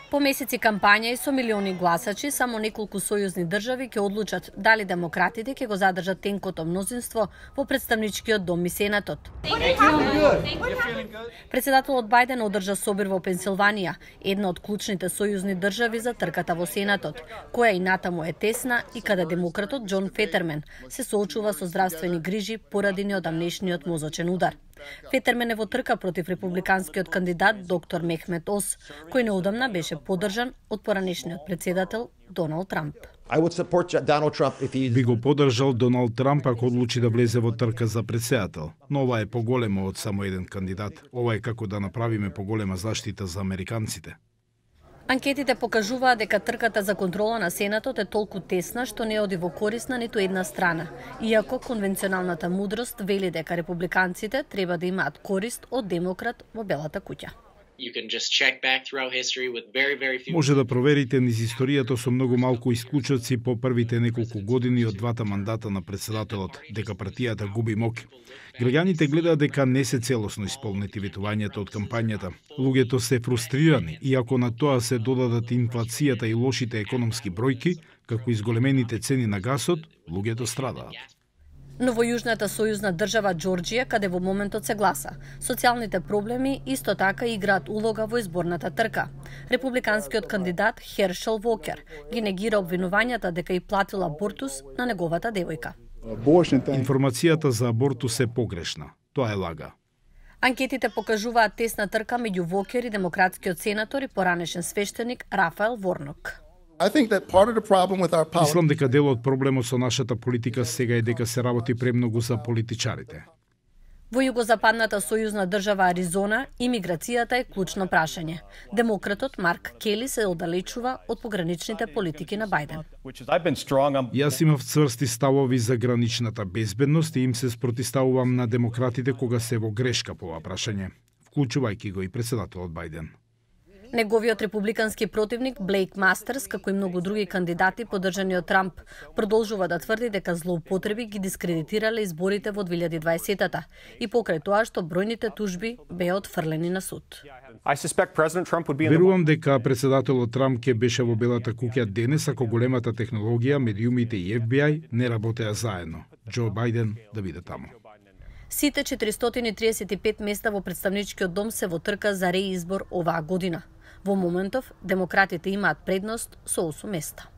По месеци кампања и со милиони гласачи, само неколку сојузни држави ќе одлучат дали демократите ќе го задржат тенкото мнозинство во представничкиот дом и Сенатот. Председателот Бајден одржа собир во Пенсилванија, една од клучните сојузни држави за трката во Сенатот, која и натаму е тесна и каде демократот Џон Фетермен се соочува со здравствени грижи поради неодамнешниот мозочен удар. Фетермен е во трка против републиканскиот кандидат доктор Мехмед Ос, кој неодамна беше поддржан од поранешниот председател Доналд Трамп. Би го поддржал Доналд Трамп ако одлучи да влезе во трка за председател, но ова е поголемо од само еден кандидат. Ова е како да направиме поголема заштита за американците. Анкетите покажуваат дека трката за контрола на Сенатот е толку тесна што не оди во корист на ниту една страна, иако конвенционалната мудрост вели дека републиканците треба да имаат корист од демократ во Белата куќа. Може да проверите низ историјата со многу малку исклучоци по првите неколку години од двата мандата на председателот, дека партијата губи моќ. Граѓаните гледаат дека не се целосно исполнети ветувањата од кампањата. Луѓето се фрустрирани и ако на тоа се додадат инфлацијата и лошите економски бројки, како изголемените цени на гасот, луѓето страдаат. Но во јужната сојузна држава Џорџија, каде во моментот се гласа, социјалните проблеми исто така играат улога во изборната трка. Републиканскиот кандидат Хершел Вокер ги негира обвинувањата дека и платил абортус на неговата девојка. Информацијата за абортус е погрешна. Тоа е лага. Анкетите покажуваат тесна трка меѓу Вокер и демократскиот сенатор и поранешен свештеник Рафаел Ворнок. Мислам дека дел од проблемот со нашата политика сега е дека се работи премногу за политичарите. Во југозападната сојузна држава Аризона, имиграцијата е клучно прашање. Демократот Марк Кели се оддалечува од пограничните политики на Бајден. Јас имав цврсти ставови за граничната безбедност и им се спротиставувам на демократите кога се во грешка по ова прашање, вклучувајќи го и председателот Бајден. Неговиот републикански противник Блейк Мастерс, како и многу други кандидати поддржани од Трамп, продолжува да тврди дека злоупотреби ги дискредитирале изборите во 2020-та и покрај тоа што бројните тужби беа отфрлени на суд. Верувам дека председателот Трамп ќе беше во Белата куќа денес ако големата технологија, медиумите и FBI не работеа заедно. Џо Бајден да биде таму. Сите 435 места во представничкиот дом се во трка за реизбор оваа година. Во моментов, демократите имаат предност со 8 места.